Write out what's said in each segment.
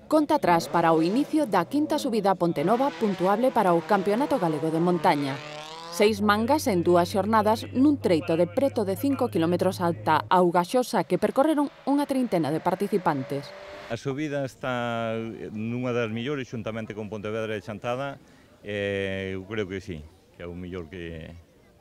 Conta atrás para o inicio da quinta subida a Pontenova puntuable para o Campeonato Galego de Montaña. 6 mangas en 2 xornadas nun treito de preto de 5 km alta Augaxosa que percorreron unha trintena de participantes. A subida está nunha das millores, xuntamente con Pontevedra e Chantada, eu creo que sí, que é o mellor que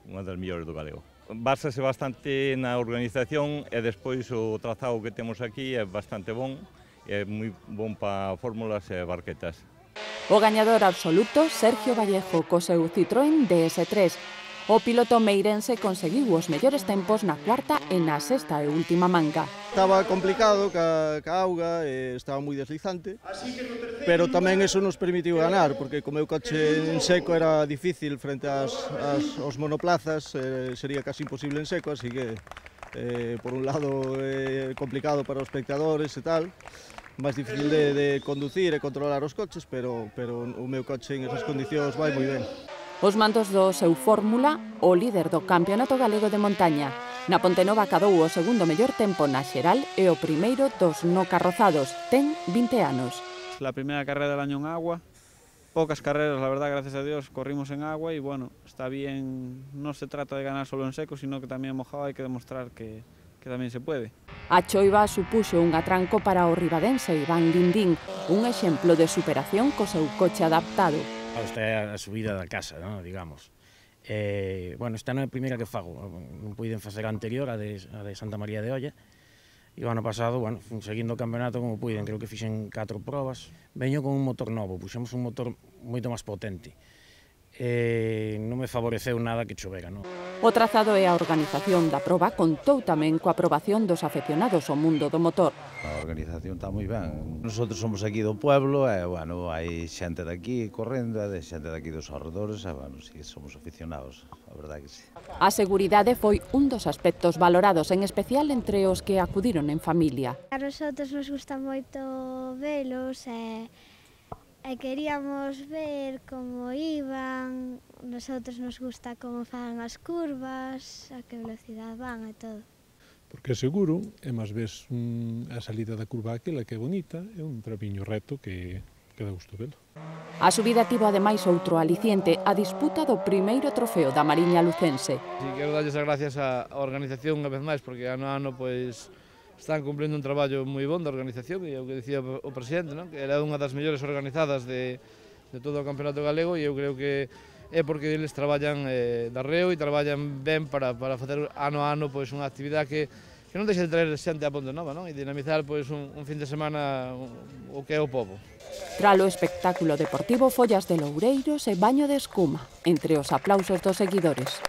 unha das millores do galego. Básase bastante na organización e despois o trazado que temos aquí é bastante bon, é moi bon para fórmulas e barquetas. O gañador absoluto, Sergio Vallejo, co seu Citroën DS3. O piloto meirense conseguiu os mellores tempos na cuarta e na sexta e última manga. Estaba complicado ca auga, estaba moi deslizante, pero tamén eso nos permitiu ganar, porque co meu coche en seco era difícil frente aos monoplazas, sería casi imposible en seco, así que por un lado complicado para os espectadores e tal, máis difícil de conducir e controlar os coches, pero o meu coche en esas condicións vai moi ben. Os mandos do seu Fórmula, o líder do Campeonato Galego de Montaña. Na Pontenova acadou o segundo mellor tempo na xeral e o primeiro dos no carrozados. Ten 20 anos. La primeira carrera del año en agua. Pocas carreras, la verdad, gracias a Dios, corrimos en agua y bueno, está bien, no se trata de ganar solo en seco, sino que también en mojado hay que demostrar que tamén se puede. A choiva supuxo un atranco para o ribadense Iván Lindín, un exemplo de superación co seu coche adaptado. Esta é a subida da casa, ¿no? Digamos. Bueno, esta non é a primeira que fago, non puiden facer a anterior, a de Santa María de Olla, e o ano pasado, bueno, seguindo o campeonato como puiden, creo que fixen 4 probas. Veño con un motor novo, puxemos un motor moito máis potente. Non me favoreceu nada que chovera, non? O trazado e a organización da proba contou tamén coa aprobación dos afeccionados ao mundo do motor. A organización está moi ben. Nosotros somos aquí do pueblo e, bueno, hai xente de aquí correndo e xente de aquí dos arredores e, bueno, sí, somos aficionados, a verdade que sí. A seguridade foi un dos aspectos valorados, en especial entre os que acudiron en familia. A nosotros nos gusta moito velos e queríamos ver como iban, nosotros nos gusta como fan as curvas, a que velocidade van e todo. Porque é seguro, e máis ves a salida da curva aquela que é bonita, é un tramiño reto que dá gusto velo. A subida tivo ademais outro aliciente, a disputa do primeiro trofeo da Mariña Lucense. Sí, quero darlles as gracias á organización unha vez máis, porque ano a ano, pois, están cumprindo un traballo moi bon da organización, e é o que dicía o presidente, non? Que era unha das mellores organizadas de todo o campeonato galego, e eu creo que é porque eles traballan darreo e traballan ben para facer ano a ano pois, unha actividade que non deixa de traer xente a Pontenova, non? E dinamizar pois, un fin de semana o que é o pobo. Tralo espectáculo deportivo, follas de loureiros e baño de escuma, entre os aplausos dos seguidores.